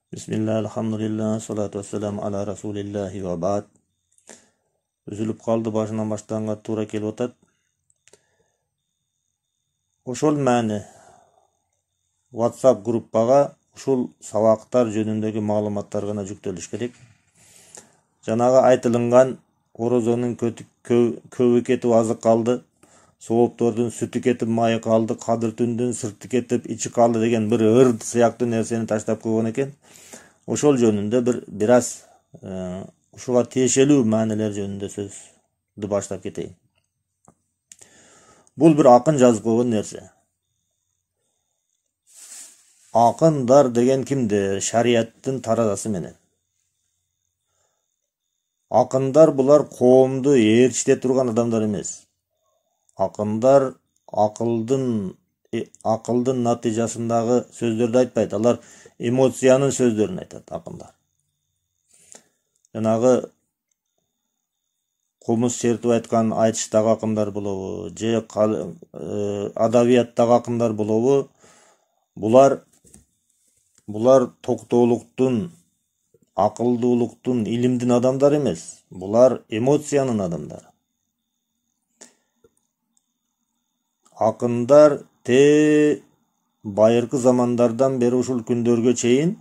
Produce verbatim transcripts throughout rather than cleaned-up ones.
Bismillah, alhamdulillah, salatu wassalamu ala rasulillahi wa ba'd. Üzülüp kaldı başından başlanganga tuura kelip atat. Ошол маани WhatsApp группага ушул сабактар жөнүндөгү маалыматтар гана жүктөлүш керек. Жанагы айтылынган орозонун көбү кетип азык калды, сооптордун сүтү кетип майы калды, кадыр түндүн сырты кетип ичи калды деген бир ырд сыяктуу нерсени таштап койгон экен. Ошол жөнүндө бир бир аз ушуга тиешелүү маанилер жөнүндө сөздү баштап кетейин. Бул бир акын жазып койгон нерсе. Акындар деген кимдер? Шарияттын таразасы менен. Акындар булар коомду ээрчите турган адамдар эмес. Акындар акылдын акылдын натыйжасындагы сөздөрдү айтпайт. Алар эмоциянын сөздөрүн айтат акындар. Жанагы комуз чертип айткан айтыштагы акындар болобу, же адабияттагы акындар болобу, булар булар токтоолуктун, акылдуулуктун, илимдин адамдары эмес. Булар эмоциянын адамдары. Акындар те байыркы замандардан бери ушул күндөргө чейин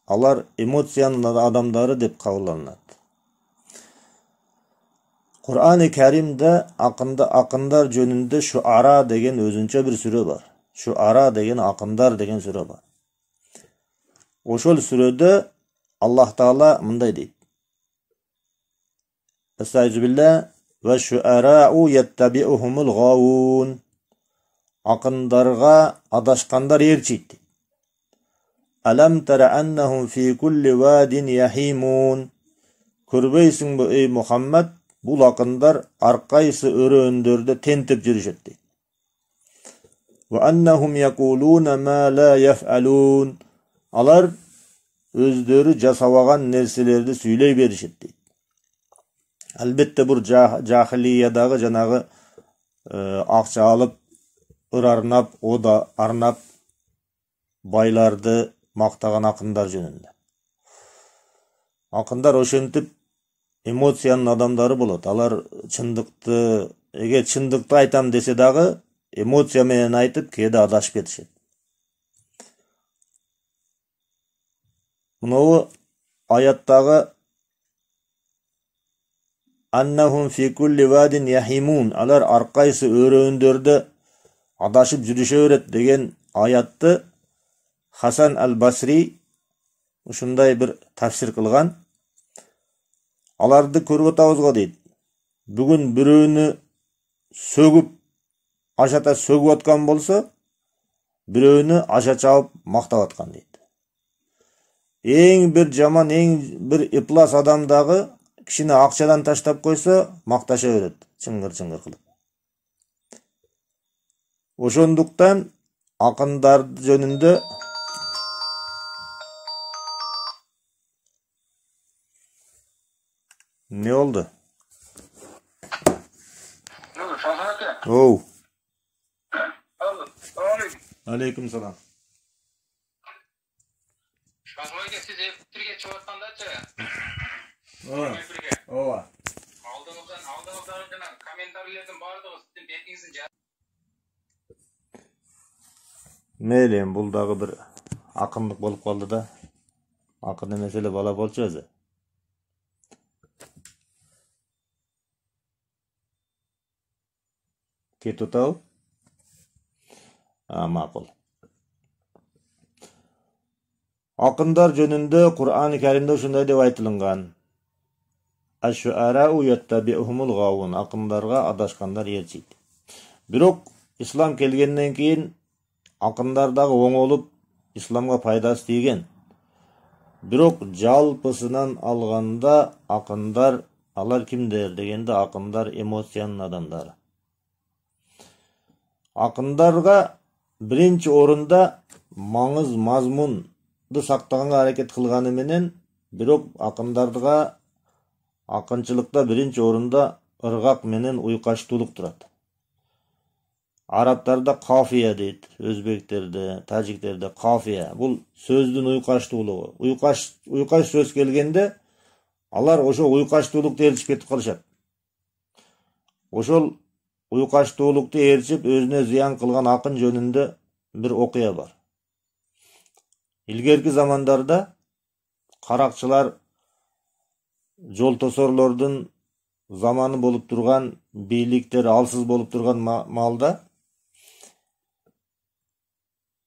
алар эмоциянын адамдары деп кабылданат. Кур'ан-ы Каримде акында акындар жөнүндө Шуара деген өзүнчө бир сүрө бар. Шуара деген акындар деген сүрө бар. Ошол сүрөдө Аллах Таала мындай дейт. Эстагфирулла ва шуарау яттабиухумул гавун. Акындарга адашкандар ээрчийт. Алам тара аннахум фи кулли вадин яхимун. Көрбөйсүңбү эй Мухаммад, бул акындар ар кайсы өрөөндөрдө тентип жүрүшөт дейт. Ва аннахум якулуна ма ла яфалун. Алар өздөрү жасабаган нерселерди сүйлөй беришет дейт. Албетте бул жахилиядагы жанагы акча алып ыр арнап, ода арнап байларды мактаган акындар жөнүндө. Акындар ошентип эмоциянын адамдары болот. Алар чындыкты, эгер чындыкты айтам десе дагы, эмоция менен айтып, кээде адашып кетишет. Мынау аяттагы аннахум фи кулли вадин яхимун. Алар ар кайсы өрөөндөрдө адашып жүрүшө берет деген аятты Хасан аль-Басри ушундай бир тафсир кылган. Аларды көрүп атабыз го дейт. Бүгүн бирөөнү сөгүп, ашата сөгүп аткан болсо, бирөөнү аша чабып мактап аткан дейт. Эң бир жаман, эң бир иплас адамдагы кишини акчадан таштап койсо, макташа берет, чыңгыр-чыңгыр кылып. Ошондуктан акындар жөнүндө не болду? Оу. Алейкум салам. Шахмайга сиз эфирге чыгып аткандачы. Ооба. Алдыңыздан алдыңыздан жана комментарийлердин баардыгы сиздин бетиңиздин жа. Мейли, бул дагы бир акындык болуп калды да. Акын эмес эле бала болчу өзү. Кетип атабы? А, макул. Акындар жөнүндө Кур'ан-ы Каримде ушундай деп айтылган. Аш-шуарау яттабиухумул гавун. Акындарга адашкандар ээрчийт. Бирок ислам келгенден кийин акындар дагы оңолуп исламга пайдасы тийген. Бирок жалпысынан алганда акындар, алар кимдер дегенде акындар эмоциянын адамдары. Акындарга биринчи орунда маңыз, мазмунду сактаганга аракет кылганы менен, бирок акындардыга акынчылыкта биринчи орунда ыргак менен уйкаштуулук турат. Арабтарда кафия дейт, өзбектерде, тажиктерде кафия. Бул сөздүн уйкаштуулугу. Уйкаш уйкаш сөз келгенде алар ошо уйкаштуулукту ээрчип кетип калышат. Ошол уйкаштуулукту ээрчип өзүнө зыян кылган акын жөнүндө бир окуя бар. Илгерки замандарда каракчылар жол тосорлордун заманы болуп турган, бийликтер алсыз болуп турган маалда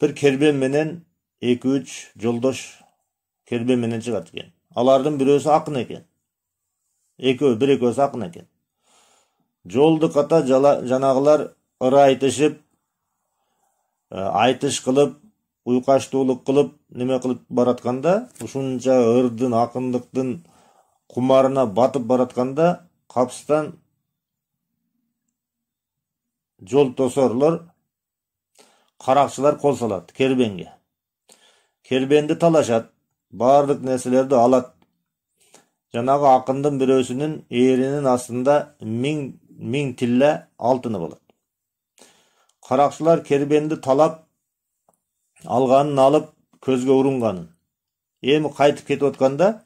бир кербен менен эки үч жолдош кербен менен чыгат экен. Алардын бирөөсү акын экен. Экөө, бир экөөсү акын экен. Жолду ката жанагылар ыры айтышып, айтыш кылып, уйкаштуулук кылып, неме кылып баратканда, ушунча ырдын, акындыктын кумарына батып баратканда, капыстан жол тосорлор, каракчылар кол салат кербенге. Кербенди талашат, баардык нерселерди алат. Жанагы акындын бирөөсүнүн ээринин астында миң миң тилле алтыны болот. Каракчылар кербенди талап алганын алып көзгө урунганын. Эми кайтып кетип атканда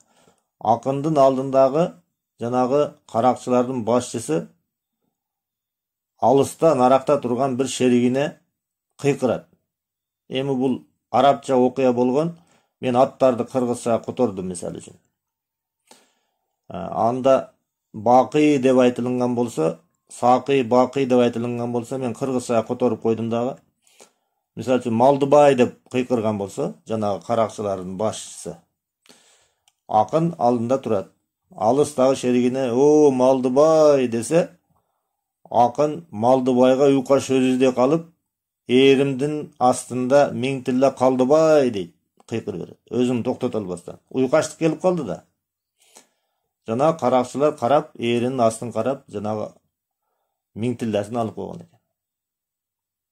акындын алдындагы жанагы каракчылардын башчысы алыста наракта турган бир шеригине кыйкырат. Эми бул арабча окуя болгон. Мен аттарды кыргызча котордум мисалы үчүн. Анда бакый деп айтылган болсо, сакый, бакый деп айтылган болсо, мен кыргызча которуп койдум дагы. Мисалы үчүн Малдыбай деп кыйкырган болсо, жанагы каракчылардын башчысы. Акын алдында турат. Алыстагы шеригине "О, Малдыбай" десе, акын Малдыбайга уйкаш сөз издей калып, "Эримдин астында миң тиле Калдыбай" дейт, кыйкырып берет. Өзүн токтото албастан. Уйкаштык келип калды да. Жанагы каракчылар карап, эринин астын карап, жанагы миң тиллесин алып койгон экен.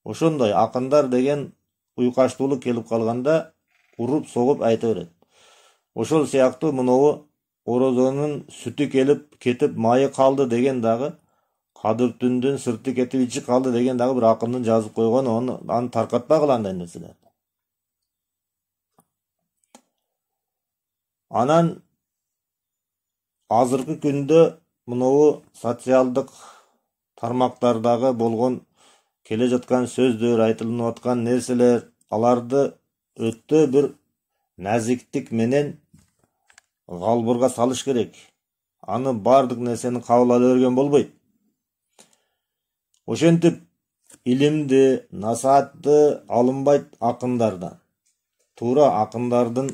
Ошондой акындар деген уйкаштуулук келип калганда уруп согуп айта берет. Ошол сыяктуу мынобу орозонун сүтү келип кетип майы калды деген дагы, кадыр түндүн сырты кетип ичи калды деген дагы бир акындын жазып койгон, аны аны таркатпагыла андай нерселер. Анан азыркы күндө мынобу социалдык тармактардагы болгон келе жаткан сөздөр, айтылып аткан нерселер, аларды өтө бир назиктик менен галбырга салыш керек. Аны бардык нерсени кабыл ала берген болбойт. Ошентип илимди, насаатты алынбайт акындардан. Туура акындардын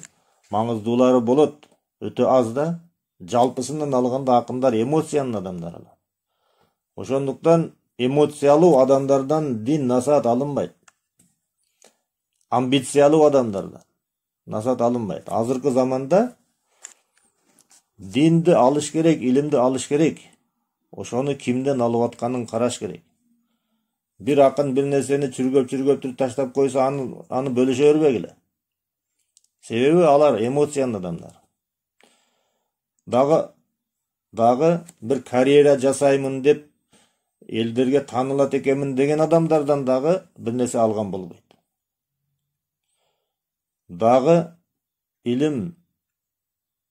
маңыздуулары болот, өтө аз да. Жалпысынан алганда акындар эмоциянын адамдары. Ошондуктан эмоциялуу адамдардан дин, насаат алынбайт. Амбициялуу адамдардан насаат алынбайт. Азыркы заманда динди алыш керек, илимди алыш керек. Ошону кимден алып атканын караш керек. Бир акын бир нерсени чүргөп-чүргөп таштап койсо, аны аны бөлүшө бербегиле. Себеби алар эмоциянын адамдар. Дагы дагы бир карьера жасаймын деп элдерге таанылат экенмин деген адамдардан дагы бир нерсе алган болбойт. Дагы илим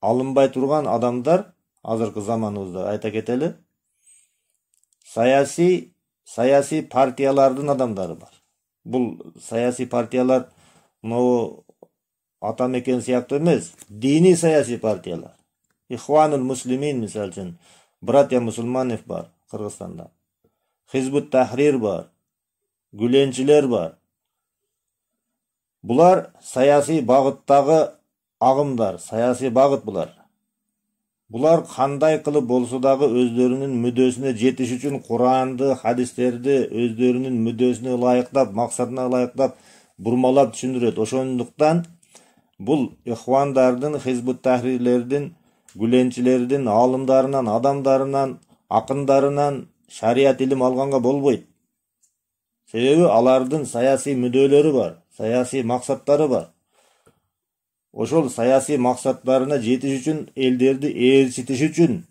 алынбай турган адамдар азыркы заманыбызда айта кетели, саясий саясий партиялардын адамдары бар. Бул саясий партиялар могу ата мекен сыяктуу эмес, диний саясий партиялар. Ихванул муслимин мисалы үчүн, братья мусулманов бар Кыргызстанда. Хизбут Тахрир бар, Гүленчилер бар. Булар саясий багыттагы агымдар, саясий багыт булар. Булар кандай кылып болсо дагы өздөрүнүн мүддөсүнө жетиш үчүн Куранды, хадистерди өздөрүнүн мүддөсүнө ылайыктап, максатына ылайыктап бурмалап түшүндүрөт. Ошондуктан бул ихвандардын, Хизбут Тахрирлердин, Гүленчилердин алымдарынан, адамдарынан, акындарынан шарият илим алганга болбойт. Себеби алардын саясий мүддөлөрү бар, саясий максаттары бар. Ошол саясий максаттарына жетиш үчүн, элдерди ээрчитиш үчүн,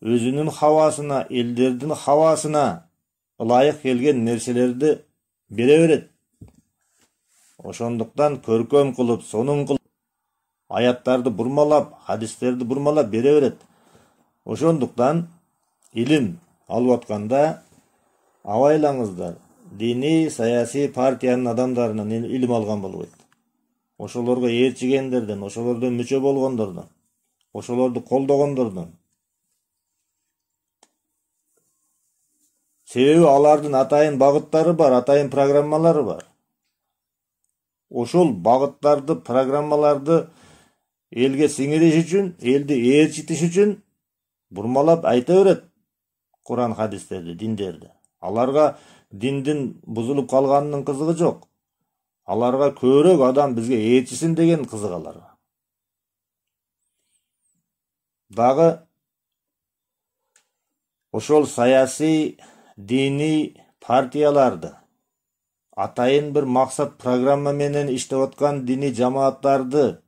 өзүнүн хавасына, элдердин хавасына ылайык келген нерселерди бере берет. Ошондуктан көркөм кылып, сонун кылып, аяттарды бурмалап, хадистерди бурмалап бере берет. Ошондуктан илим алып атканда абайлаңыздар, диний, саясий партиянын адамдарынан илим алган болбойт. Ошолорго ээрчигендерден, ошолордон мүчө болгондордон, ошолорду колдогондордон. Себеби алардын атайын багыттары бар, атайын программалары бар. Ошол багыттарды, программаларды элге сиңириш үчүн, элди ээрчитиш үчүн бурмалап айта берет Куран хадистерди, диндерди. Аларга диндин бузулуп калганынын кызыгы жок. Аларга көбүрөөк адам бизге ээрчисин деген кызык аларга. Дагы ошол саясий, диний партияларды, атайын бир максат программа менен иштеп аткан диний жамааттарды,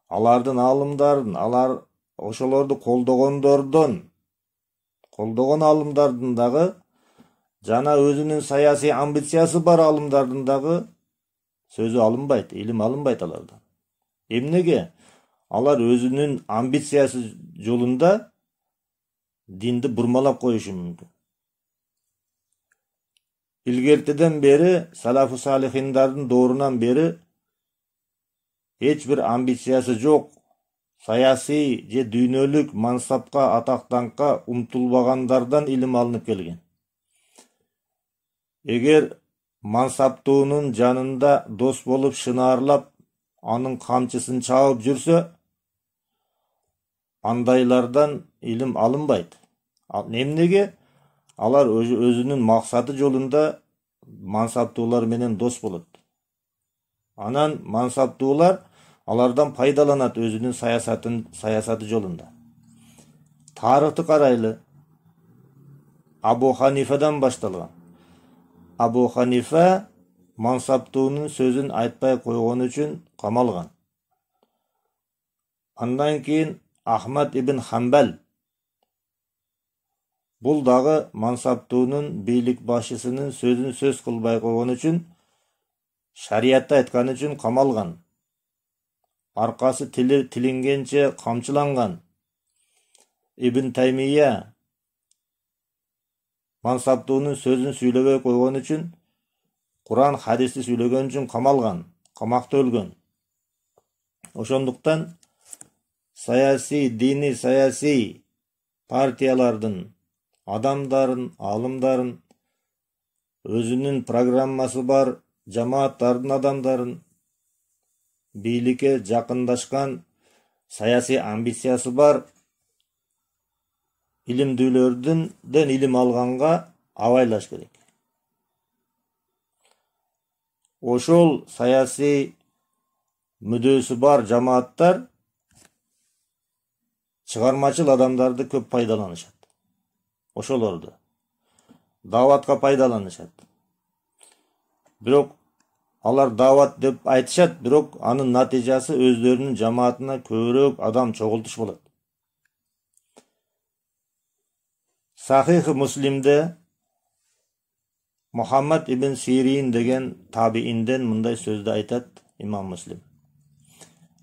алардын алымдарын, алар ошолорду колдогондордон, колдогон алымдардын дагы жана өзүнүн саясий амбициясы бар алымдардын дагы сөзү алынбайт, илим алынбайт алардан. Эмнеге? Алар өзүнүн амбициясы жолунда динди бурмалап коюшу мүмкүн. Илгертеден бери, салафу салихиндардын доорунан бери эч бир амбициясы жок, саясий же дүйнөлүк мансапка, атактанкка умтулбагандардан илим алынып келген. Эгер мансаптуунун жанында дос болуп шынаарлап, анын камчысын чабып жүрсө, андайлардан илим алынбайт. Эмнеге? Алар өзүнүн максаты жолунда мансаптуулар менен дос болот. Анан мансаптуулар алардан пайдаланат өзүнүн саясатын, саясаты жолунда. Тарыхты карайлы. Абу Ханифадан башталган. Абу Ханифа мансаптуунун сөзүн айтпай койгон үчүн камалган. Андан кийин Ахмад ибн Хамбал. Бул дагы мансаптуунун бийлик башчысынын сөзүн сөз кылбай койгон үчүн, шариятты айткан үчүн камалган. Аркасы тили тилингенче камчыланган. Ибн Таймия мансаптуунун сөзүн сүйлөбөй койгон үчүн, Куран хадисти сүйлөгөн үчүн камалган, камакта өлгөн. Ошондуктан саясий, дини саясий партиялардын адамдарын, алымдарын, өзүнүн программасы бар жамааттардын адамдарын, бийликке жакындашкан, саясий амбициясы бар илимдүүлөрдөн илим алганга абайлаш керек. Ошол саясий мүдөөсү бар жамааттар чыгармачыл адамдарды көп пайдаланышат. Ошолорду даватка пайдаланышат. Бирок алар дават деп айтышат, бирок анын натыйжасы өздөрүнүн жамаатына көбүрөөк адам чогултуш болот. Сахих Муслимде Мухаммад ибн Сирин деген табиинден мындай сөздү айтат имам Муслим.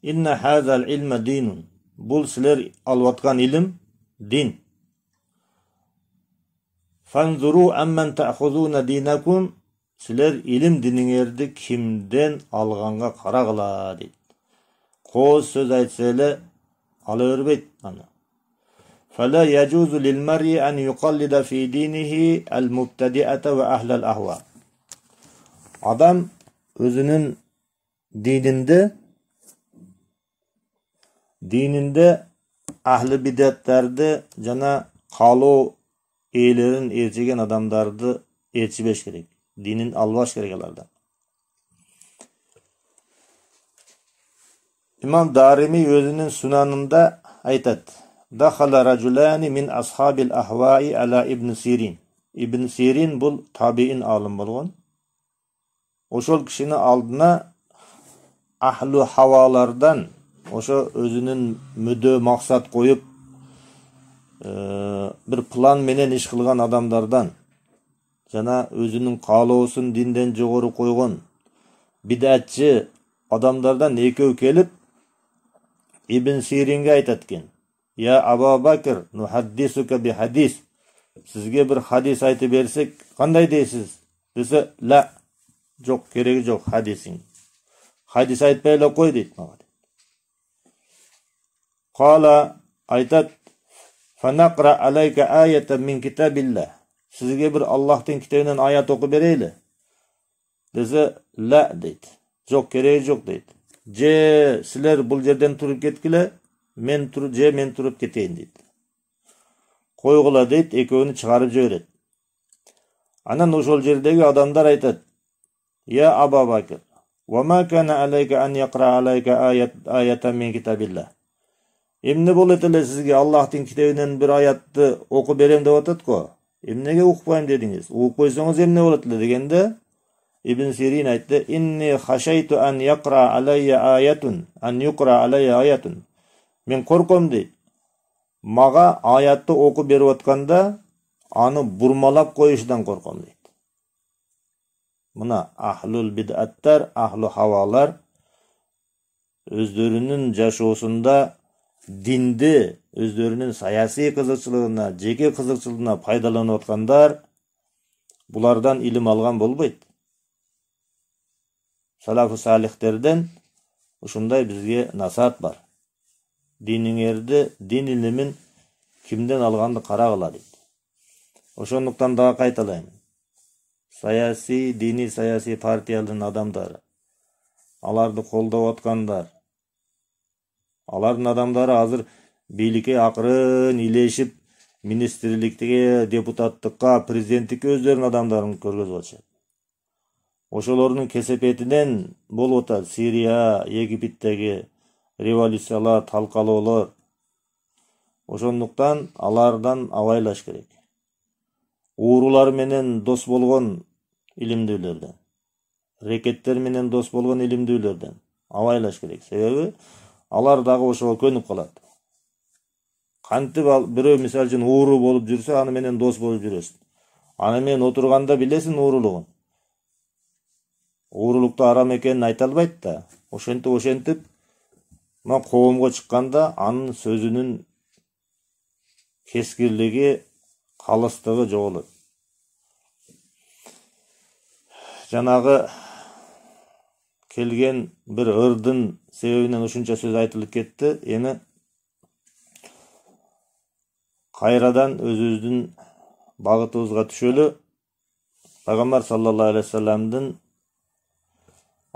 Инна хазал илма динун. Бул силер алып аткан илим дин. Фанзуру амман таъхузуна динакум. Силер илим диниңерди кимден алганга карагыла дейт. Кооз сөз айтса эле ала бербейт аны. Фала яжузу лил мар'i an yuqallida fi dinihi al-mubtadi'ata wa ahla al-ahwa. Адам өзүнүн дининде дининде ахли бидаттарды жана калоо ээлерин ээрчиген адамдарды ээрчибеш керек. Динин албаш керек алардан. Имам Дарими өзүнүн сунанында айтат: Дахала ражулани мин асхабил ахваи ала ибн Сирин. Ибн Сирин бул табиин алым болгон. Ошол кишини алдына ахлу хавалардан, ошо өзүнүн мүдө максат коюп бир план менен иш кылган адамдардан жана өзүнүн каалоосун динден жогору койгон бидатчы адамдардан экөө келип Ибн Сиринге айтат экен: "Я Аба Бакр, нухаддисука би хадис. Сизге bir хадис айтып берсек, кандай дейсиз?" Десе: "Ла, жок, кереги жок хадисиң. Хадис айтпай эле кой" дейт мага. Кала айтат: "Фанакра алайка аятан мин китабилла." Сизге bir Аллахтын китебинен аят окуп берейли. Десе: "Ла" дейт. Жок, кереги жок дейт. Же силер бул жерден туруп кеткиле, мен туруп же мен туруп кетейин дейт. Койгула дейт, экөөнү чыгарып жиберет. Анан ошол жердеги адамдар айтат: "Я Аба Бакр, ва ма кана алайка ан якра алайка аят аятан мин китабилла." Эмне болот эле сизге Аллахтын китебинен bir аятты окуп берем деп атат го. Эмнеге укпайм дедиңиз? Укуп койсоңуз эмне болот эле дегенде Ибн Сирин айтты: "Инни хашайту ан якра алайя аятун, ан юкра алайя аятун." Мен корком дейт. Мага аятты окуп берип атканда аны бурмалап коюшунан корком дейт. Мына ахлул бидаттар, ахлу хавалар өздөрүнүн жашоосунда динди өздөрүнүн саясий кызыкчылыгына, жеке кызыкчылыгына пайдаланып аткандар булардан илим алган болбойт. Салафу салихтерден ушундай бизге насаат бар. Диниңерди, дин илимин кимден алганды карагыла дейт. Ошондуктан дагы кайталайм. Саясий, дини саясий партиялардын адамдары, аларды колдоп аткандар, алардын адамдары азыр бийликке акырын илешип, министрликтеге, депутаттыкка, президенттикке өздөрүнүн адамдарын көргөзүп атышат. Ошолордун кесепетинен болуп атат Сирия, Египеттеги революциялар, талкалоолор. Ошондуктан алардан абайлаш керек. Уурулар менен дос болгон илимдүүлөрдөн, рекеттер менен дос болгон илимдүүлөрдөн абайлаш керек. Себеби алар дагы ошого көнүп калат. Кантип бирөө мисалы үчүн ууру болуп жүрсө, аны менен дос болуп жүрөсүң. Аны менен отурганда билесиң уурулугун. Уурулукту арам экенин айта албайт да. Ошентип ошентип мына коомго чыкканда анын сөзүнүн кескирлиги, калыстыгы жоголот. Жанагы келген bir ырдын себебинен ушунча сөз айтылып кетти. Эми кайрадан өзүбүздүн багытыбызга түшөлү. Пайгамбар саллаллаху алейхи вассаламдын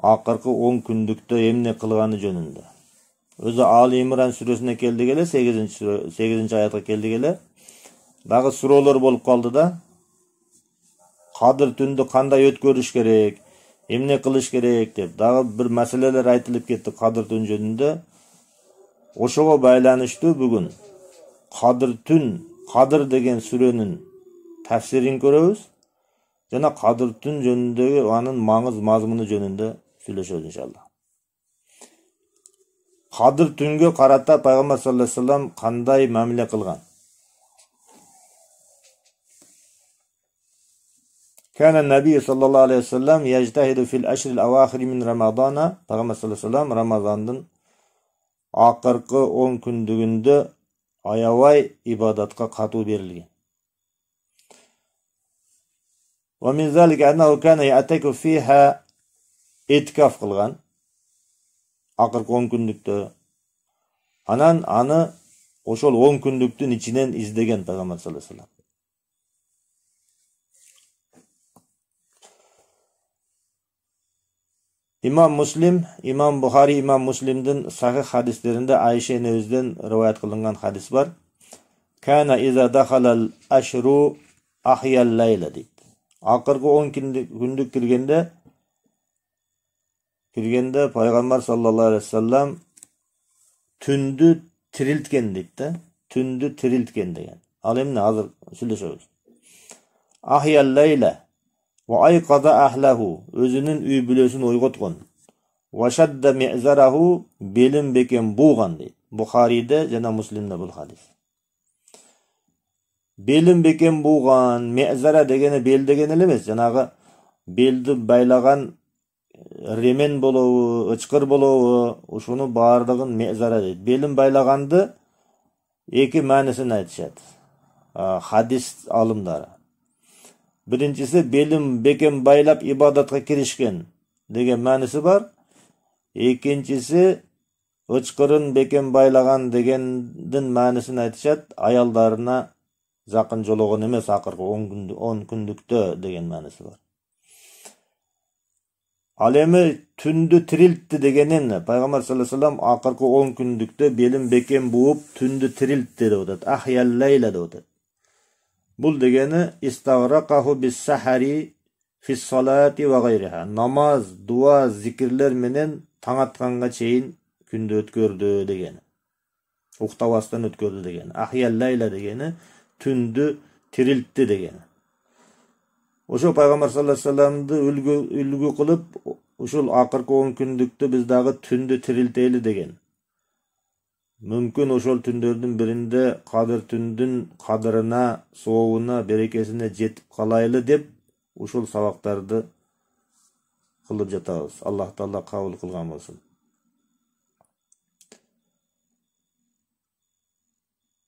акыркы он күндүктө эмне кылганы жөнүндө. Өзү Али Имран сүрөсүнө келди келе, сегизинчи аятка келди келе. Дагы суроолор болуп калды да. Кадыр түндү кандай өткөрүш керек, эмне кылыш керек деп дагы бир маселелер айтылып кетти кадыр түн жөнүндө. Ошого байланыштуу бүгүн Кадыр түн, Кадыр деген сүрөнүн тафсирин көрөбүз жана Кадыр түн жөнүндөгү анын маңыз мазмуну жөнүндө сүйлөшөбүз иншалла. Кадыр түнгө карата Пайгамбар саллаллаху алейхи вассалам кандай мамиле кылган? Кана Наби саллаллаху алейхи вассалам яжтахиду фил ашрил авахири мин Рамадана. Пайгамбар саллаллаху алейхи вассалам Рамазандын акыркы он күндүгүндө аябай ибадатка катуу берилген. Ва мин залика аннаху кана я'таку фиха иткаф кылган. Акыркы он күндүктө. Анан аны ошол он күндүктүн ичинен издеген Пайгамбар саллаллаху алейхи вассалам. Имам Муслим, Имам Бухари, Имам Муслимдин сахих хадистеринде Айша энебизден риваят кылынган хадис бар. Кана иза дахалал ашру ахял лайла дейт. Акыркы он күндүк киргенде киргенде Пайгамбар саллаллаху алейхи вассалам түндү тирилткен дейт да. Түндү тирилткен деген. Ал эмне азыр сүйлөшөбүз. Ахял лайла ва айқада ахлаху, өзүнүн үй бүлөсүн ойготкон. Ва шадда ми'зараху, белин бекен буган дейт. Бухариде жана Муслимде бул хадис. белин бекем буган, мезара дегени бел деген эле эмес, жанагы белди байлаган ремен болобу, ычкыр болобу, ушуну баардыгын мезара дейт. Белин байлаганды эки маанисин айтышат хадис алымдары. Биринчиси белин бекем байлап ибадатка киришкен деген мааниси бар. Экинчиси ычкырын бекем байлаган дегендин маанисин айтышат, аялдарына жакын жологон эмес акыркы он күндүктө деген мааниси бар. Ал эми түндү тирилтти дегенин пайгамбар саллаллаху алейхи вассалам акыркы он күндүктө белин бекем бууп түндү тирилтти деп атат. Ахял лейла деп атат. Бул дегени истагракаху бис-сахари фис-салати ва гайриха. Намаз, дуа, зикирлер менен таң атканга чейин күндү өткөрдү дегени. Уктабастан өткөрдү дегени. Ахял лейла дегени түндү тирилтти дегени. Ошо пайгамбар саллаллаху алейхи вассаламды үлгү үлгү кылып, ушул акыркы он күндүктө биз дагы түндү тирилтели деген. Мүмкүн ошол түндөрдүн биринде кадыр түндүн кадырына, сообуна, берекесине жетип калайлы деп ушул сабактарды кылып жатабыз. Аллах Таала кабыл кылган болсун.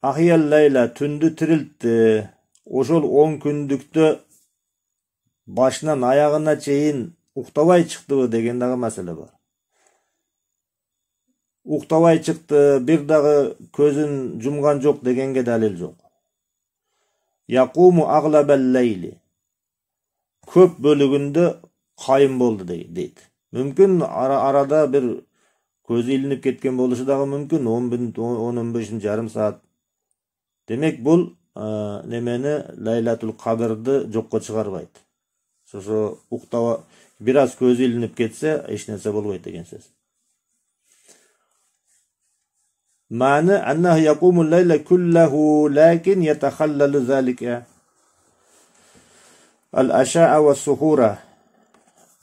Ахиял лейла түндү тирилтти. Ошол он күндүктө башынан аягына чейин уктабай чыктыбы деген дагы маселе бар. Уктабай чыкты, бир дагы көзүн жумган жок дегенге далил жок. Якуму аглабал лейли. Көп бөлүгүндө кайым болду дейт. Мүмкүн арада бир көзү илинип кеткен болушу дагы мүмкүн, он он беш жарым саат. Демек бул немени Лайлатул Кадрды жокко чыгарбайт. Ошо уктаба бир аз көзү илинип кетсе, эч нерсе болбойт деген сөз. Маны аннаху якумул лейла куллаху лакин ятахаллалу залика ал-аша'a ва-сухура.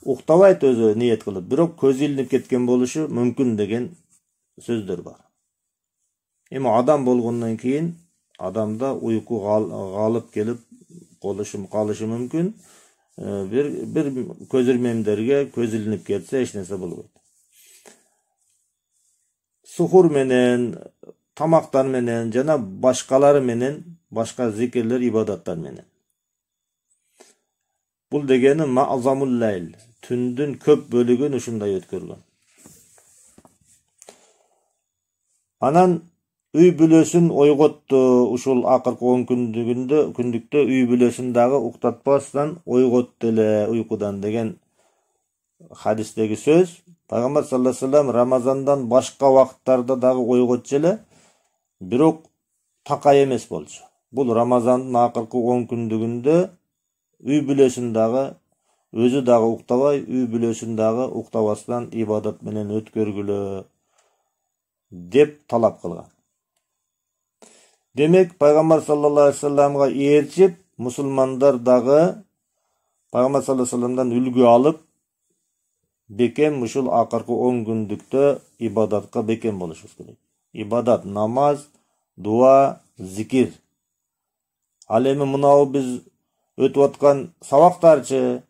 Уктабайт өзү ниет кылып, бирок көзү илинип кеткен болушу мүмкүн деген сөздөр бар. Эми адам болгондон кийин адамда уйку галып келип колушу калышы мүмкүн. Бир бир көзүрмемдерге көз илинип кетсе эч нерсе болбойт. Сухур менен, тамактар менен жана башкалары менен, башка зикирлер, ибадаттар менен. Бул дегени ма'замул лайл, түндүн көп бөлүгүн ушундай өткөргөн. Анан үй бүлөсүн ойготту, ушул акыркы он күндүгүндө күндүктө үй бүлөсүн дагы уктатпастан ойготту эле уйкудан деген хадистеги сөз. Пайгамбар саллаллаху алейхи вассалам Рамазандан башка вакыттарда дагы ойготчу эле, бирок такай эмес болчу. Бул Рамазандын акыркы он күндүгүндө үй бүлөсүн дагы, өзү дагы уктабай, үй бүлөсүн дагы уктабастан ибадат менен өткөргүлө деп талап кылган. Демек, Пайгамбар саллаллаху алейхи вассаламга ээрчип, мусулмандар дагы Пайгамбар саллаллаху алейхи вассаламдан үлгү алып, бекем ушул акыркы он күндүктө ибадатка бекем болушубуз керек. Ибадат, намаз, дуа, зикир. Ал эми мынау биз өтүп аткан сабактарчы,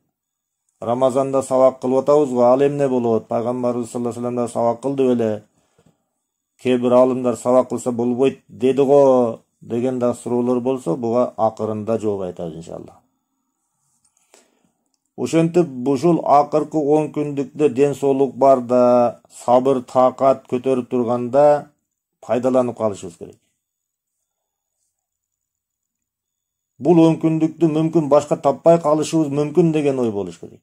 Рамазанда сабак кылып атабыз го, ал эмне болот? Пайгамбарыбыз саллаллаху алейхи вассалам да сабак кылды беле? Кээ бир алымдар сабак кылса болбойт деди го деген да суроолор болсо, буга акырында жооп айтабыз иншалла. Ошентип ушул акыркы он күндүктө ден соолук барда, сабыр, такат көтөрүп турганда пайдаланып калышыбыз керек. Бул он күндүктү мүмкүн башка таппай калышыбыз мүмкүн деген ой болуш керек.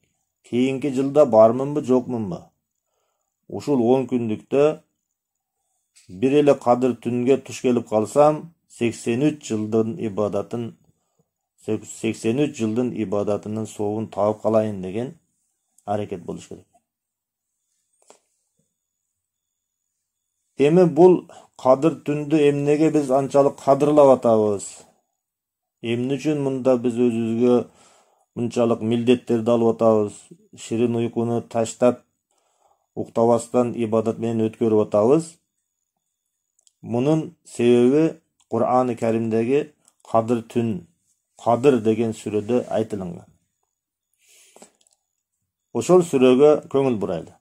Кийинки жылда бармынбы, жокмунбу? Ушул он күндүктө бир эле кадыр түнгө туш келип калсам, сексен үч жылдын ибадатын сексен үч жылдын ибадатынын сообун таап калайын деген аракет болуш керек. Эми бул кадыр түндү эмнеге биз анчалык кадырлап атабыз? Эмне үчүн мында биз өзүбүзгө мынчалык милдеттерди алып атабыз? Ширин уйкуну таштап, уктабастан ибадат менен өткөрүп атабыз? Мунун себеби Кур'ан-ы Каримдеги Кадыр түн, Кадыр деген сүрөдө айтылган. Ошол сүрөгө көңүл бурайлы.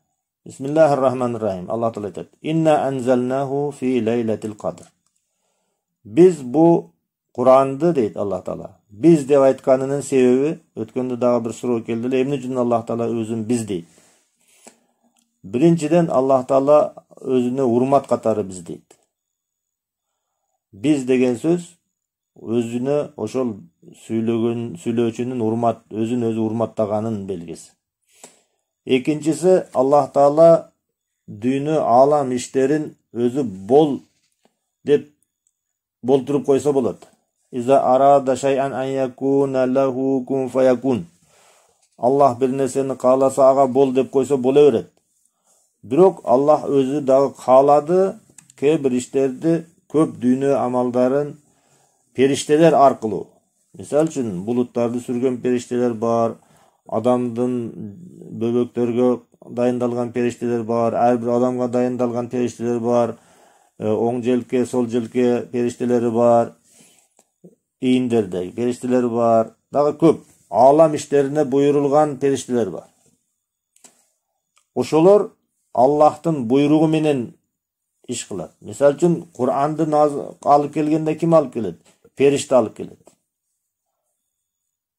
Бисмиллахир-рахманир-рахим. Аллах Таала айтат: "Инна анзалнаху фи лейлатил кадр." Биз бу Куранды дейт Аллах Таала. Биз деп айтканынын себеби, өткөндө дагы бир суроо келди эле, эмне үчүн Аллах Таала өзүн биз дейт? Биринчиден Аллах Таала өзүнө урмат катары биз дейт. Биз деген сөз өзүнө ошол сүйлөгөн сүйлөөчүнүн урмат, өзүн өзү урматтаганын белгиси. Экинчиси, Аллах Таала дүйнө алам иштерин өзү бол деп болтуруп койсо болот. Иза арада шай'ан ан якуна лаху кун фаякун. Аллах бир нерсени кааласа ага бол деп койсо боло берет. Бирок Аллах өзү дагы каалады, кээ бир иштерди, көп дүйнө амалдарын периштелер аркылуу. Мисалы үчүн булуттарды сүргөн периштелер бар, адамдын бөбөктөргө дайындалган периштелер бар, ар бир адамга дайындалган периштелер бар, оң желке, сол желке периштелери бар, ийиндердеги периштелер бар, дагы көп алам иштерине буйрулган периштелер бар. Ошолор Аллахтын буйругу менен иш кылат. Мисалы үчүн Куранды алып келгенде ким алып келет? Периште алып келет.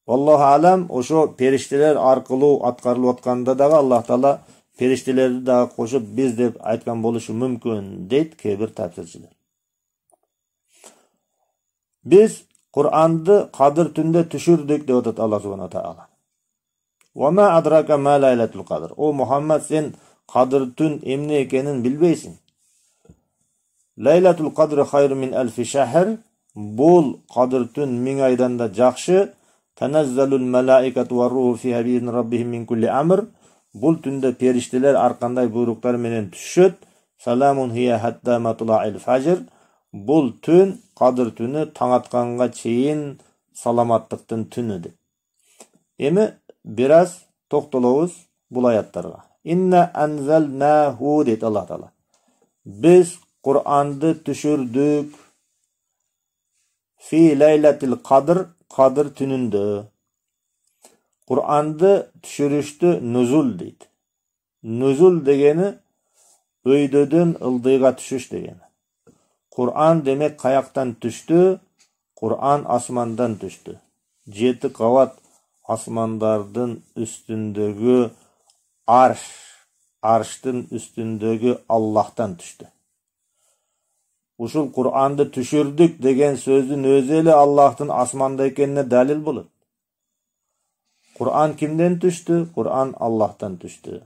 Аллаху алам, ошо периштелер аркылуу аткарылып атканда дагы Аллах Таала периштелерди дагы кошуп биз деп айткан болушу мүмкүн, дейт кээ бир тафсирчилер. Биз Куранды Кадыр түндө түшүрдүк деп атат Аллах субхана таала. Ва ма адрака ма лайлатул кадр. О Мухаммад, сен Кадыр түн эмне экенин билбейсиң. Лайлатул кадр хайру мин алфи шахр. Бул Кадыр түн миң айдан да жакшы. Таназзалул малаикату ва руху фиха би раббихим мин кулли амр. Бул түндө периштелер ар кандай буйруктар менен түшөт. Саламун хия хатта матлаил фажр. Бул түн, Кадыр түнү таң атканга чейин саламаттыктын түнү деп. Эми бир аз токтолобуз бул аяттарга. Инна анзалнаху дейт Аллах Таала. Биз Куранды түшүрдүк фи лейлатил кадр, Кадыр түнүндө. Куранды түшүрүштү нузул дейт. Нузул дегени өйдөдөн ылдыйга түшүш дегени. Куран демек каяктан түштү? Куран асмандан түштү. Жети кабат асмандардын үстүндөгү арш, арштын үстүндөгү Аллахтан түштү. Ушул Куранды түшүрдүк деген сөздүн өзү эле Аллахтын асманда экенине далил болот. Куран кимден түштү? Куран Аллахтан түштү.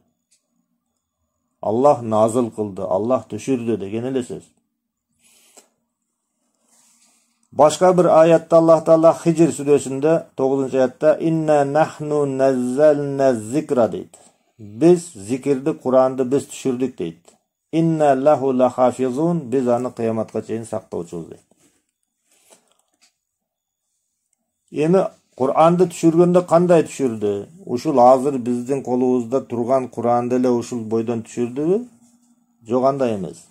Аллах назыл кылды, Аллах түшүрдү деген эле сөз. Башка бир аятта Аллах Таала Хижр сүрөсүндө тогузунчу аятта инна нахну наззална зикра дейт. Биз зикирди, Куранды биз түшүрдүк дейт. Инна лаху лахафизун, биз аны кыяматка чейин сактоочубуз дейт. Эми Куранды түшүргөндө кандай түшүрдү? Ушул азыр биздин колубузда турган Куранды эле ушул бойдон түшүрдүбү? Жок, андай эмес.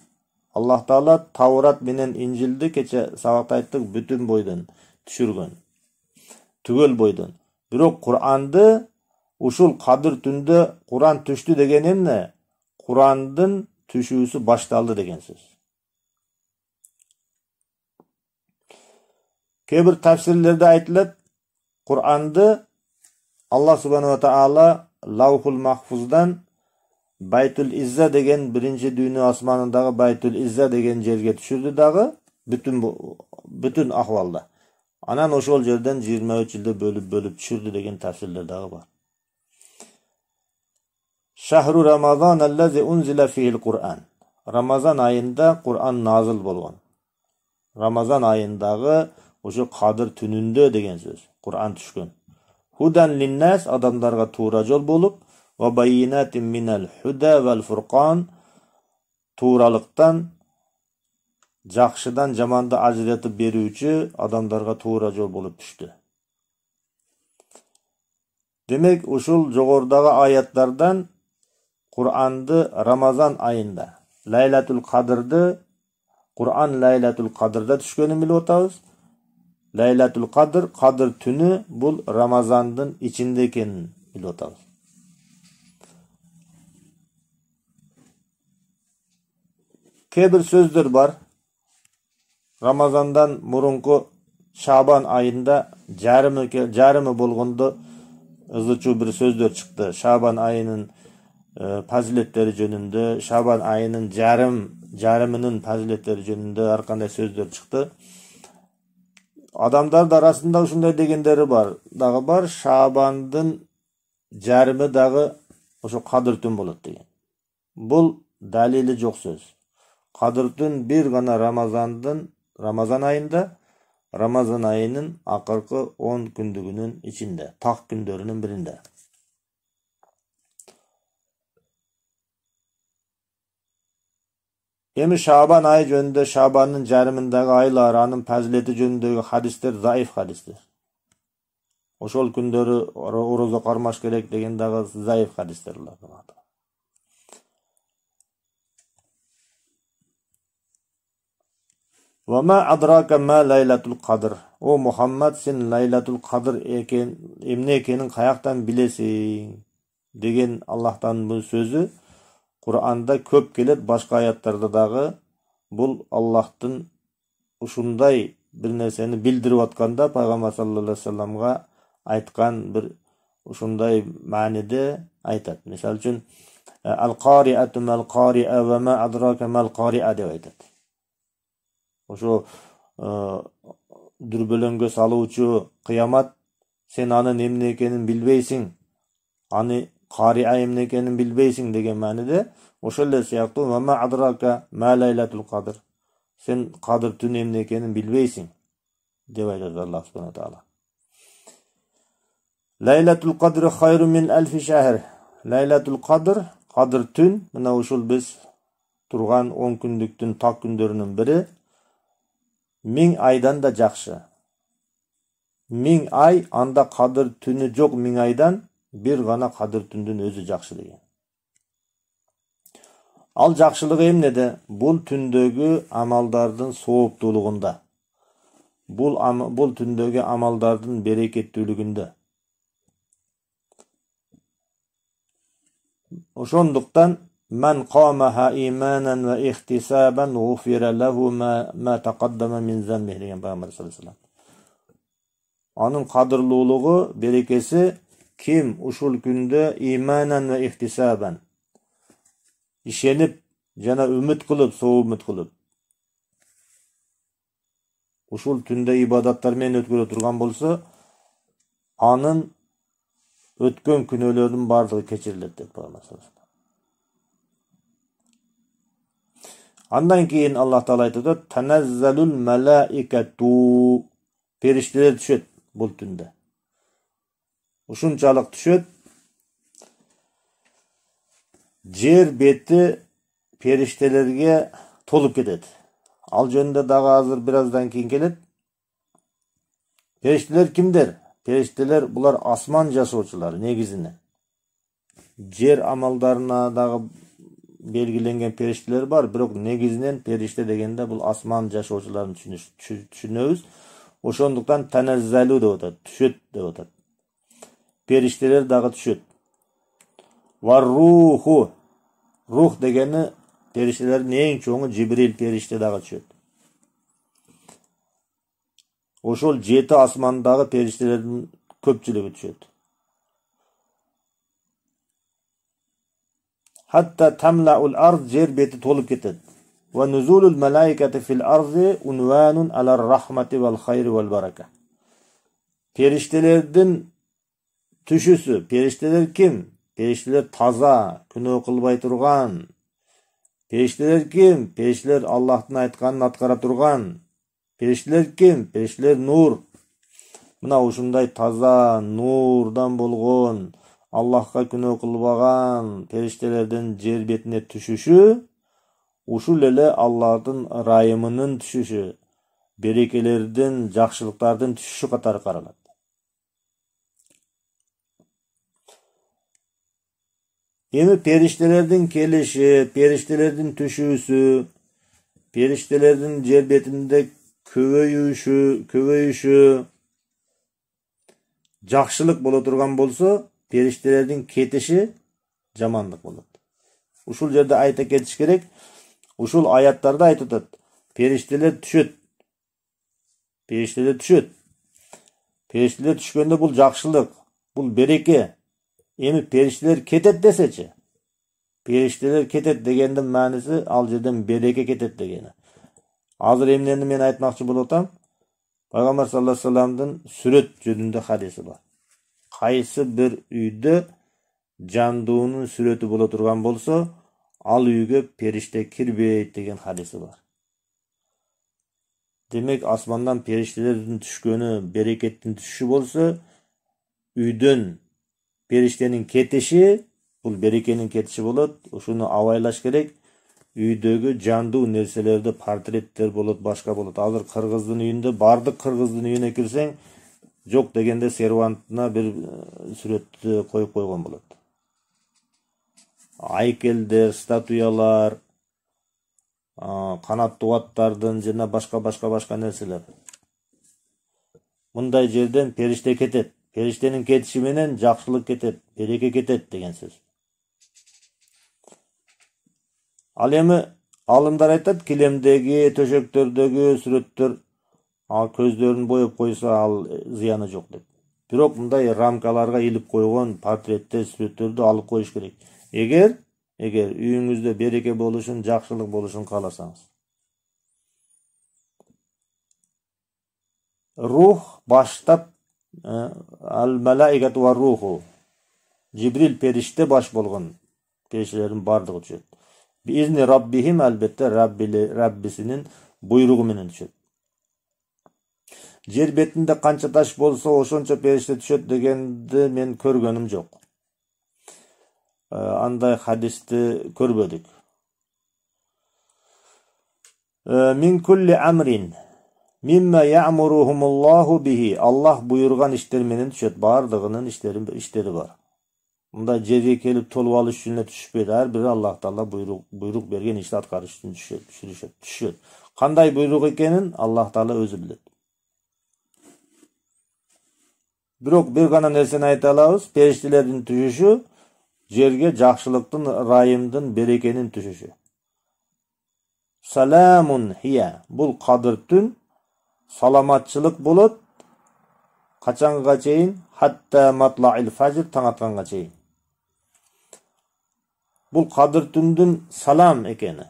Аллах Таала Таврат менен Инжилди кече сабакта айттык бүтүн бойдон түшүргөн. Түгөл бойдон. Бирок Куранды ушул Кадыр түндө Куран түштү деген эмне? Курандын түшүүсү башталды деген сөз. Кээ бир тафсирлерде айтылат, Куранды Аллах субханаху ва таала Лаухул Махфуздан Байтул Изза деген биринчи дүйнө асманындагы Байтул Изза деген жерге түшүрдү дагы бүтүн бүтүн акыбалда. Анан ошол жерден жыйырма үч жылда бөлүп бөлүп түшүрдү деген тафсирлер дагы бар. Шахру Рамазан аллази унзила фихил Кур'ан. Рамазан айында Кур'ан назыл болгон. Рамазан айындагы ошо Кадыр түнүндө деген сөз. Кур'ан түшкөн. Худан линнас, адамдарга туура жол болуп, ва байинатин минал худа вал фуркан, тууралыктан, жакшыдан жаманды ажыратып берүүчү адамдарга туура жол болуп түштү. Демек, ушул жогорудагы аяттардан Кур'анды Рамазан айында, Лайлатул Кадырды, Кур'ан Лайлатул Кадырда түшкөнүн билип атабыз. Лайлатул Кадр, Кадр түнү бул Рамазандын ичинде экенин билип атабыз. Кээ бир сөздөр бар. Рамазандан мурунку Шабан айында жарымы жарымы болгондо ызычуу бир сөздөр чыкты. Шабан айынын фазилеттери жөнүндө, Шабан айынын жарым жарымынын фазилеттери жөнүндө ар кандай сөздөр чыкты. Адамдар арасында ушундай дегендери бар. Дагы бар, Шабандын жарымы дагы ошо Кадыр түн болот деген. Бул далили жок сөз. Кадыр түн бир гана Рамазандын Рамазан айында, Рамазан айынын акыркы он күндүгүнүн ичинде, так күндөрүнүн биринде. Эми Шабан айы жөнүндө, Шабандын жарымындагы айлар, анын фазилети жөнүндөгү хадистер заиф хадистер. Ошол күндөрү орозо кармаш керек деген дагы заиф хадистер. Ва ма адрака ма лайлатул кадр. О Мухаммад, сен лайлатул кадр экен эмне экенин каяктан билесиң деген Аллахтан бул сөзү Кур'анда көп келет, башка аяттарда дагы бул Аллахтын ушундай бир нерсени билдирип атканда пайгамбар саллаллаху алейхи вассаламга айткан бир ушундай мааниде айтат. Мисалы үчүн ал-кариату мал-кариа ва ма адрака мал-кариа деп айтат. Ошо дүрбөлөңгө салуучу кыямат, сен анын эмне экенин билбейсиң, аны кариа эмне экенин билбейсиң деген мааниде. Ошол эле сыяктуу ва ма адрака ма лайлатул кадр, сен Кадыр түн эмне экенин билбейсиң деп айтат Аллах субхана таала. Лайлатул кадр хайру мин алфи шахр. Лайлатул кадр, Кадыр түн, мына ушул биз турган он күндүктүн так күндөрүнүн бири миң айдан да жакшы. Миң ай, анда Кадыр түнү жок миң айдан бир гана Кадыр түндүн өзү жакшы деген. Ал жакшылыгы эмнеде? Бул түндөгү амалдардын сооптуулугунда. Бул бул түндөгү амалдардын берекеттүүлүгүндө. Ошондуктан man qamaha imanan va ihtisaban ghufira lahu ma ma taqaddama min zambi деген Пайгамбар саллаллаху алейхи ва саллям. Анын кадырлуулугу, берекеси ким ушул күндө иманан ва ихтисабан ишенип жана үмүт кылып, соо үмүт кылып ушул түндө ибадаттар менен өткөрө турган болсо, анын өткөн күнөөлөрүнүн бардыгы кечирилет деп Пайгамбар саллаллаху алейхи ва саллям. Андан кийин Аллах Таала айтат: "Танаzzalul malaikatu", периштелер түшөт бул түндө. Ушунчалык түшөт, жер бети периштелерге толуп кетет. Ал жөнүндө дагы азыр бир аздан кийин келет. Периштелер кимдер? Периштелер булар асман жашоочулары негизинен. Жер амалдарына дагы белгиленген периштелер бар, бирок негизинен периште дегенде бул асман жашоочуларын түшүнөбүз. Ошондуктан таназзалу деп атат, түшөт деп атат. Периштелер дагы түшөт. Вар руху, рух дегени периштелердин эң чоңу Жибрил периште дагы түшөт. Ошол жети асмандагы периштелердин көпчүлүгү түшөт. Hatta tamla'ul ard, жер бети толуп кетет. Ва нузулул малаикати фил арди унванун алар рахмати вал хайри вал барака. Периштелердин түшүсү, периштелер ким? Периштелер таза, күнөө кылбай турган. Периштелер ким? Периштелер Аллахтын айтканын аткара турган. Периштелер ким? Периштелер нур. Мына ушундай таза, нурдан болгон, Аллахка күнөө кылбаган периштелердин жер бетине түшүшү ушул эле Аллахтын ырайымынын түшүшү, берекелердин, жакшылыктардын түшүшү катары каралат. Эми периштелердин келиши, периштелердин түшүүсү, периштелердин жер бетинде көбөйүшү, көбөйүшү жакшылык боло турган болсо, периштелердин кетиши жамандык болот. Ушул жерде айта кетиш керек. Ушул аяттарда айтып атат. Периштелер түшөт. Периштелер түшөт. Периштелер түшкөндө бул жакшылык, бул береке. Эми периштелер кетет десечи. Периштелер кетет дегендин мааниси ал жерден береке кетет дегени. Азыр эмнени мен айтмакчы болуп атам? Пайгамбар саллаллаху алейхи вассаламдын сүрөт жөнүндө хадиси бар. Кайсы бир үйдө жандуунун сүрөтү боло турган болсо, ал үйгө периште кирбейт деген хадиси бар. Демек, асмандан периштелердин түшкөнү берекеттин түшүшү болсо, үйдөн периштенин кетиши бул берекенин кетиши болот. Ушуну абайлаш керек. Үйдөгү жандуу нерселерди, портреттер болот, башка болот. Азыр кыргыздын үйүндө, бардык кыргыздын үйүнө кирсең, жок дегенде сервантына бир сүрөттү коюп койгон болот. Айкелдер, статуялар, канаттуу аттардын жана башка башка башка нерселер. Мындай жерден периште кетет. Периштенин кетиши менен жакшылык кетет, береке кетет деген сөз. Ал эми алымдар айтат, килемдеги, төшөктөрдөгү сүрөттөр көздөрүн боеп койсо ал зыяны жок деп. Бирок мындай рамкаларга илип койгон портреттер, сүрөттөрдү алып коюш керек. Эгер эгер үйүңүздө береке болушун, жакшылык болушун кааласаңыз. Рух баштап ал-малаикату ва руху. Жибрил периште баш болгон периштелердин бардыгы түшөт. Бизни раббихим, албетте Раббисинин буйругу менен түшөт. Жер бетинде канча таш болсо, ошончо периште түшөт дегенди мен көргөнүм жок. Андай хадисти көрбөдүк. Мин кулли амрин мимма я'муруhumullahu bihi. Аллах буйрган иштер менен түшөт. Бардыгынын иштери иштери бар. Мындай жерге келип толуп алыш үчүн эле түшпөйт. Ар бири Аллах Таала буйрук буйрук берген ишти аткарыш үчүн түшөт, түшүрүшөт, түшөт. Кандай буйрук экенин Аллах Таала өзү билет. Бирок бир гана нерсени айта алабыз, периштелердин түшүшү жерге жакшылыктын, райымдын, берекенин түшүшү. Саламун хия. Бул кадыр түн саламатчылык болот. Качанга чейин? Хатта матлаил фажр, таң атканга чейин. Бул кадыр түндүн салам экени,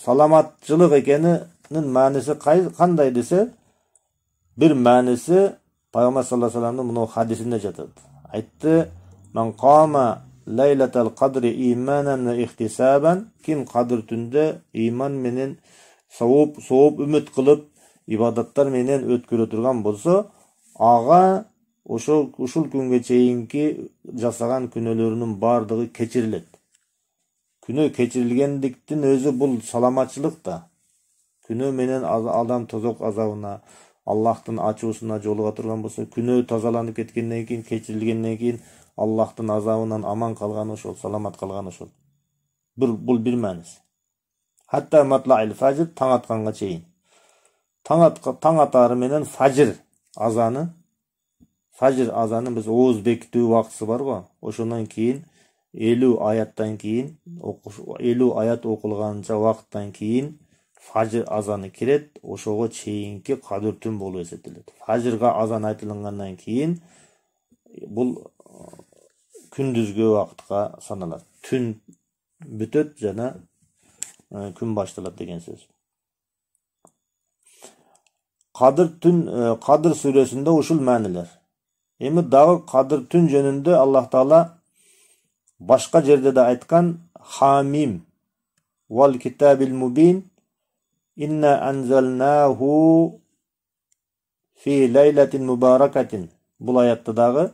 саламатчылык экенинин мааниси кандай десе, бир мааниси Пайгамбар саллаллаху алейхи вассаламдын мына хадисинде жатат. Айтты: "Ман кама лайлатал кадри иманан ва ихтисабан", ким кадыр түндө иман менен сооп, сооп үмүт кылып, ибадаттар менен өткөрө турган болсо, ага ошол ушул күнгө чейинки жасаган күнөөлөрүнүн бардыгы кечирилет. Күнөө кечирилгендиктин өзү бул саламатчылык да. Күнөө менен адам тозок азабына, Аллахтын ачуусуна жолуга турган болсо, күнөө тазаланып кеткенден кийин, кечирилгенден кийин Аллахтын азабынан аман калган ошол, саламат калган ошол. Бул бул бир маанис. Хатта матлаил фажр, таң атканга чейин. Таң атка таң атары менен фажр азаны, фажр азаны биз ооз бекитүү убактысы бар го. Ошондон кийин элүү аяттан кийин, элүү аят окулганча убакыттан кийин фажр азаны кирет. Ошого чейинки кадыр түн болуп эсептелет. Фажрга азан айтылгандан кийин бул күндүзгү убакытка саналат. Түн бүтөт жана күн башталат деген сөз. Кадыр түн, Кадыр сүрөсүндө ушул маанилер. Эми дагы кадыр түн жөнүндө Аллах Таала башка жерде да айткан: Хамим вал китабил мубин инна анзалнаху фи лайлатин мубаракатин. Бул аятта дагы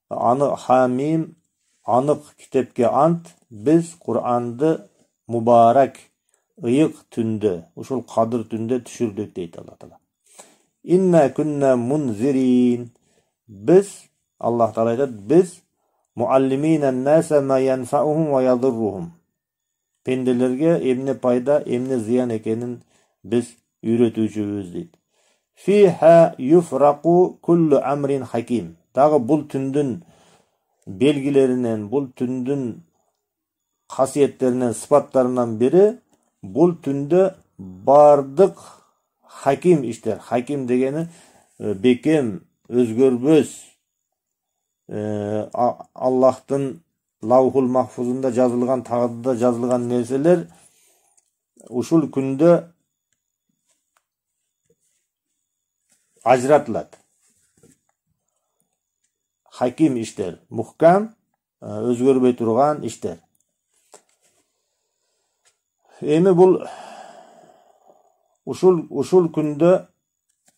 аны Хамим, анык китепке ант, биз Кур'анды мубарак, ыйык түндө, ушул кадыр түндө түшүрдүк дейт Аллах Таала. Инна күнна мунзирин. Биз, Аллах Таала айтат, биз муаллимина наса ма янфаухум ва ядуррухум. Пенделерге эмне пайда, эмне зыян экенин биз үйрөтүүчүбүз дейт. Фиха юфрaqu kullu amrin hakim. Дагы бул түндүн белгилеринен, бул түндүн касиеттеринен, сыпаттарынан бири бул түндө бардык хаким иштер. Хаким дегени бекем, өзгөрбөс, Аллахтын Лаухул Махфузунда жазылган, тагдырда жазылган нерселер ушул күндө ажыратылат. Хаким иштер, мухкам, өзгөрбөй турган иштер. Эми бул ушул ушул күндө,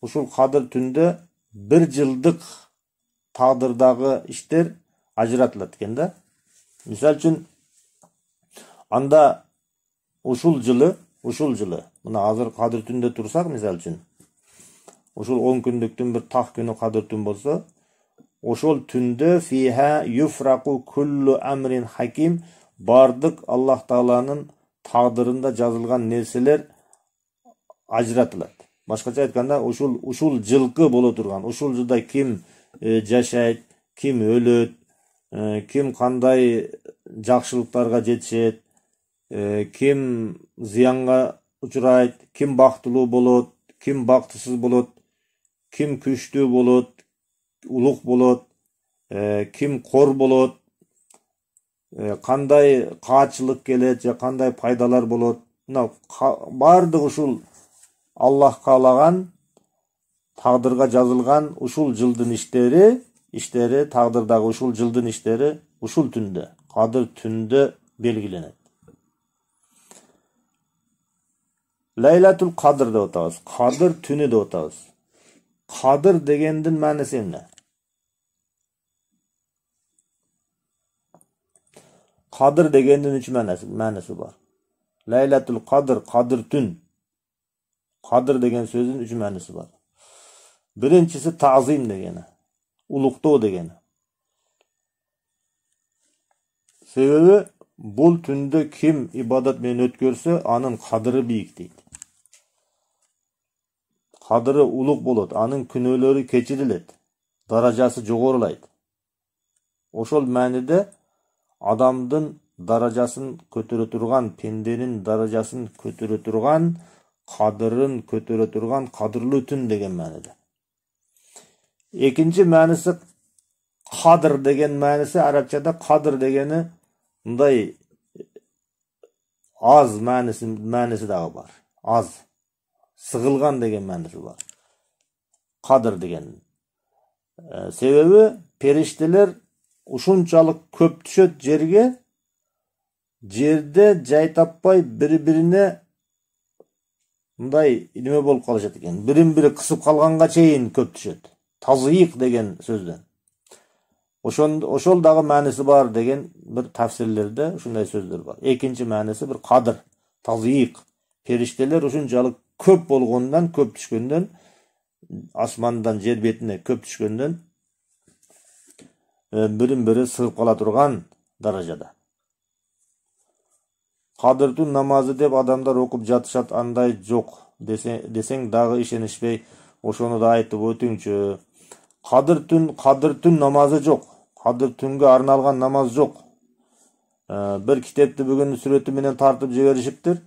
ушул кадыр түндө бир жылдык тагдырдагы иштер ажыратылат экен да. Мисал үчүн анда ушул жылы, ушул жылы, мына азыр кадыр түндө турсак, мисал үчүн ушул он күндүктүн бир так күнү кадыр түн болсо, ошол түндө фиха юфрaqu kullu amrin hakim, бардык Аллах Тааланын тагдырында жазылган нерселер ажыратылат. Башкача айтканда, ушул ушул жылкы боло турган, ушул жылда ким жашайт, ким өлөт, ким кандай жакшылыктарга жетишет, ким зыянга учурайт, ким бактылуу болот, ким бактысыз болот, ким күчтүү болот, улук болот, ким кор болот, кандай каачылык келет же кандай пайдалар болот. Мына бардык ушул Аллах каалаган, тагдырга жазылган ушул жылдын иштери, иштери тагдырдагы ушул жылдын иштери ушул түндө, кадыр түндө белгиленет. Лайлатул кадр деп атабыз, кадыр түнү деп атабыз. Кадыр дегендин мааниси эмне? Кадыр дегендин үч мааниси бар. Лайлатул кадр, кадыр түн. Кадыр деген сөздүн үч мааниси бар. Биринчиси таазим дегени, улуктоо дегени. Себеби бул түндө ким ибадат менен өткөрсө, анын кадыры бийик дейт. Кадыры улук болот, анын күнөөлөрү кечирилет, даражасы жогорулайт. Ошол мааниде адамдын даражасын көтөрө турган, пенденин даражасын көтөрө турган, кадырын көтөрө турган кадырлуу түн деген мааниде. Экинчи мааниси кадыр деген мааниси, арабчада кадыр дегени мындай аз мааниси мааниси дагы бар. Аз, сыгылган деген мааниси бар. Кадыр деген. Себеби периштелер ушунчалык көп түшөт жерге, жерде жай таппай бири-бирине мындай неме болуп калышат экен. Бирин-бири кысып калганга чейин көп түшөт. Тазыйык деген сөздөн. Ошон ошол дагы мааниси бар деген бир тафсирлерде ушундай сөздөр бар. Экинчи мааниси бир кадыр, тазыйык. Периштелер ушунчалык көп болгондон, көп түшкөндөн, асмандан жер бетине көп түшкөндөн бирин-бири сыгып кала турган даражада. Кадыр түн намазы деп адамдар окуп жатышат, андай жок десең дагы ишенишпей, ошону да айтып өтүңчү. Кадыр түн, кадыр түн намазы жок. Кадыр түнгө арналган намаз жок. Бир китепти бүгүн сүрөтү менен тартып жиберишиптир.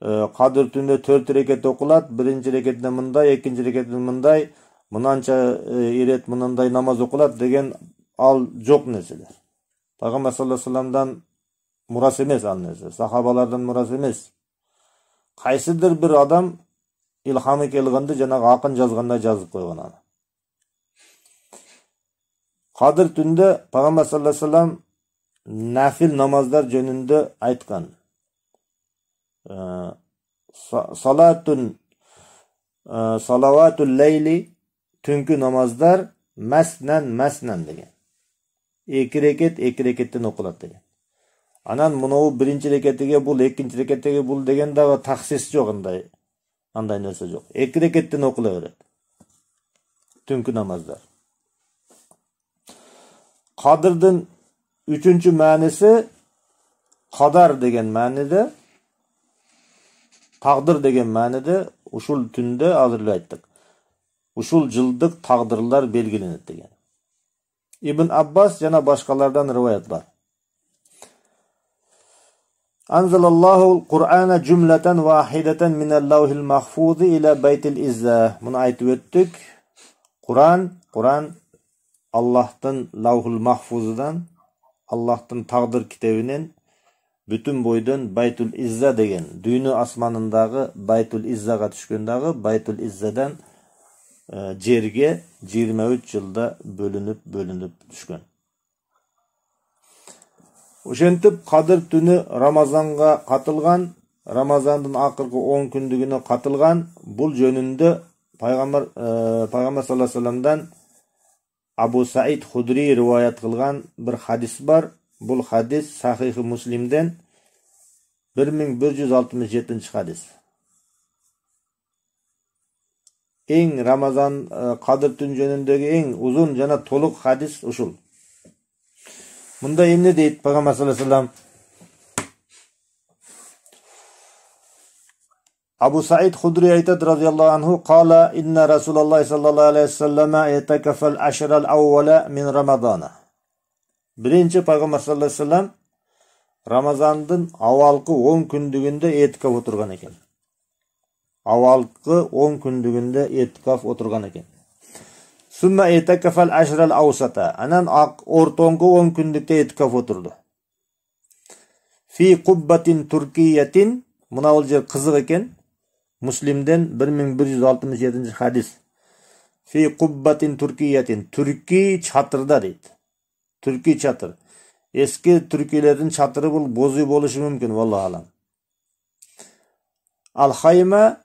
Кадыр түндө төрт рекет окулат, биринчи рекетте мындай, экинчи рекетте мындай, мынанча ирет мындай намаз окулат деген ал жок нерселер. Пайгамбар саллаллаху алейхи вассаламдан мурас эмес ал нерсе, сахабалардан мурас эмес. Кайсыдыр бир адам илхамы келгенде жанагы акын жазгандай жазып койгон аны. Кадыр түндө Пайгамбар саллаллаху алейхи вассалам нафил намаздар жөнүндө айткан. Салатун салаватул лейли, түнкү намаздар маснан маснан деген. Эки рекет, эки рекеттен окулат деген. Анан мынау биринчи рекетиге бул, экинчи рекетиге бул деген дагы таксис жок, андай андай нерсе жок. Эки рекеттен окула берет. Түнкү намаздар. Кадырдын үчүнчү мааниси кадар деген мааниде, тагдыр деген мааниде, ушул түндө азыр эле айттык. Ушул жылдык тагдырлар белгиленет деген. Ибн Аббас жана башкалардан риваят бар. Анзалаллаху Кур'ана жумлатан вахидатан минал лаухил махфузи ила байтил изза. Муну айтып өттүк. Кур'ан, Кур'ан Аллахтын лаухул махфузудан, Аллахтын тагдыр китебинен бүтүн бойдон Байтул Изза деген дүйнө асманындагы Байтул Иззага түшкөн дагы Байтул Иззадан э, жерге жыйырма үч жылда бөлүнүп бөлүнүп түшкөн. Ошентип Кадыр түнү Рамазанга катылган, Рамазандын акыркы он күндүгүнө катылган. Бул жөнүндө пайгамбар э, пайгамбар саллаллаху алейхи вассаламдан Абу Саид Худри риваят кылган бир хадис бар. Бул хадис Сахих Муслимден бир миң бир жүз алтымыш жетинчи хадис. Эң Рамазан Кадыр түн жөнүндөгү эң узун жана толук хадис ушул. Мында эмне дейт пайгамбар саллаллаху алейхи вассалам? Абу Саид Худри айтат радиаллаху анху: "Кала инна Расулаллах саллаллаху алейхи вассалама ятакафал ашрал аввала мин Рамазана." Биринчи пайгамбар саллаллаху алейхи вассалам Рамазандын авалкы он күндүгүндө этикаф отурган экен. Авалкы он күндүгүндө этикаф отурган экен. Сумма этикафал ашрал аусата. Анан ортоңку он күндүктө этикаф отурду. Фи куббатин туркиятин. Мына бул жер кызык экен. Муслимден бир миң бир жүз алтымыш жетинчи хадис. Фи куббатин туркиятин. Түрки чатырда дейт. Түрки чатыр. Эски түркилердин чатыры бул бозуй болушу мүмкүн, валлаху алам. Ал-хайма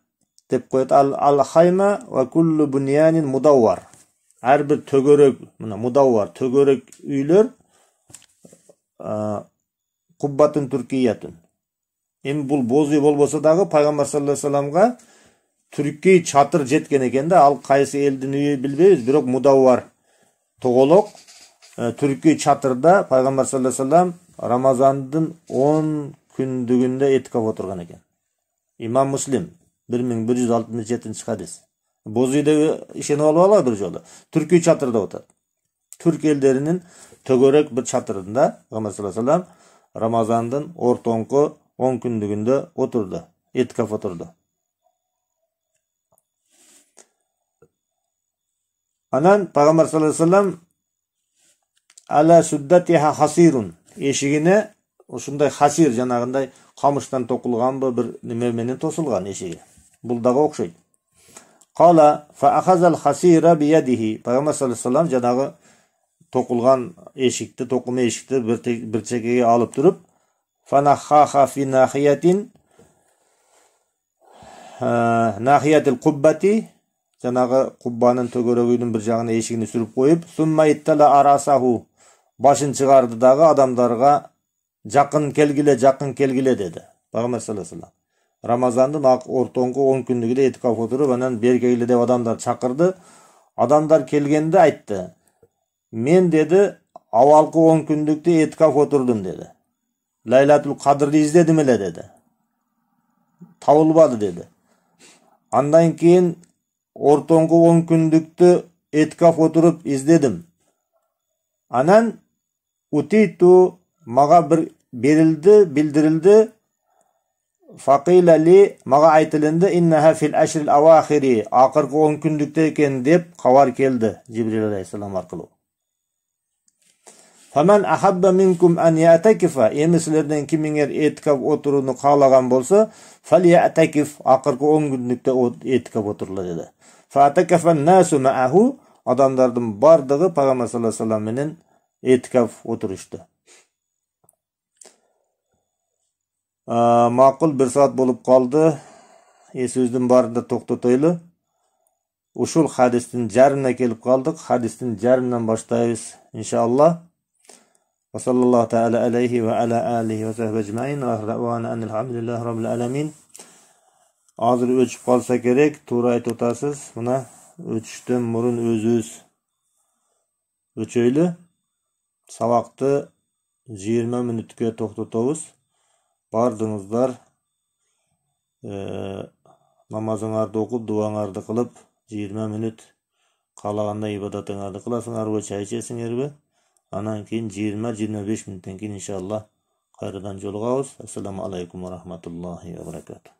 деп коет. Ал-хайма ва куллу буньянин мудаввар. Ар бир төгөрөк, мына мудаввар, төгөрөк үйлөр куббатын туркиятын. Эми бул бозуй болбосо дагы пайгамбар саллаллаху алейхи вассаламга түрки чатыр жеткен экен да, ал кайсы элдин үйү билбейбиз, бирок мудаввар тоголок түрки чатырда пайгамбар саллаллаху алейхи вассалам Рамазандын он күндүгүндө этикаф отурган экен. Имам Муслим бир миң бир жүз алтымыш жетинчи хадис. Бозуйда ишенип алып алалы бир жолу. Түрки чатырда отат. Түрк элдеринин төгөрөк бир чатырында пайгамбар саллаллаху алейхи вассалам Рамазандын ортоңку он күндүгүндө отурду, этикаф отурду. Анан пайгамбар саллаллаху алейхи вассалам ала суддатиха хасирун, эшигине ушундай хасир жанагындай камыштан токулганбы бир неме менен тосулган эшиги. Бул дагы окшойт. Кала фа ахазал хасира биядихи. Пайгамбар саллаллаху алейхи вассалам жанагы токулган эшикти, токума эшикти бир чекеге алып туруп, фанахаха фи нахиятин нахиятил куббати, жанагы куббанын төгөрөгүнүн бир жагына эшигини сүрүп коюп, сумма иттала арасаху, башын чыгарды дагы адамдарга жакын келгиле, жакын келгиле деди. Пайгамбар саллаллаху алейхи вассалам Рамазандын ортоңку он күндүгүндө этикаф отуруп, анан бери келгиле деп адамдар чакырды. Адамдар келгенде айтты: "Мен деди, авалкы он күндүктө этикаф отурдум" деди. Лайлатул Кадрды издедим эле деди. Табылбады деди. Андан кийин ортоңку он күндүктө этикаф отуруп издедим. Анан утиту, мага бир берилди, билдирилди. Факила ли, мага айтылынды, иннаха фил ашрил авахири, акыркы он күндүктө экен деп кабар келди Жибрил алейхиссалам аркылуу. Фаман ахабба минкум ан ятакифа, эми силерден кимиңер этикаф отурууну каалаган болсо, фалятакиф, акыркы он күндүктө этикаф отурула деди. Фатакафан насу мааху, адамдардын бардыгы пайгамбар саллаллаху алейхи вассалам менен этикаф отурушту. Макул бир саат болуп калды. Эсибиздин баарында токтотойлу. Ушул хадистин жарымына келип калдык. Хадистин жарымынан баштайбыз иншаллах. Ва саллаллаху таала алейхи ва аля алихи ва сахби ажмаин ва ахрауана анилхамдулиллахи раббил аламин. Азыр өчүп калса керек, туура айтып атасыз. Мына өчүштөн мурун өзүбүз өчөйлү. Сабакты жыйырма мүнөткө токтотобуз. Бардыңыздар намазыңарды окуп, дуаңарды кылып, жыйырма мүнөт каалагандай ибадатыңарды кыласыңарбы, чай ичесиңерби? Анан кийин жыйырма жыйырма беш мүнөттөн кийин иншалла кайрадан жолугабыз. Ассаламу алейкум ва рахматуллахи ва баракатух.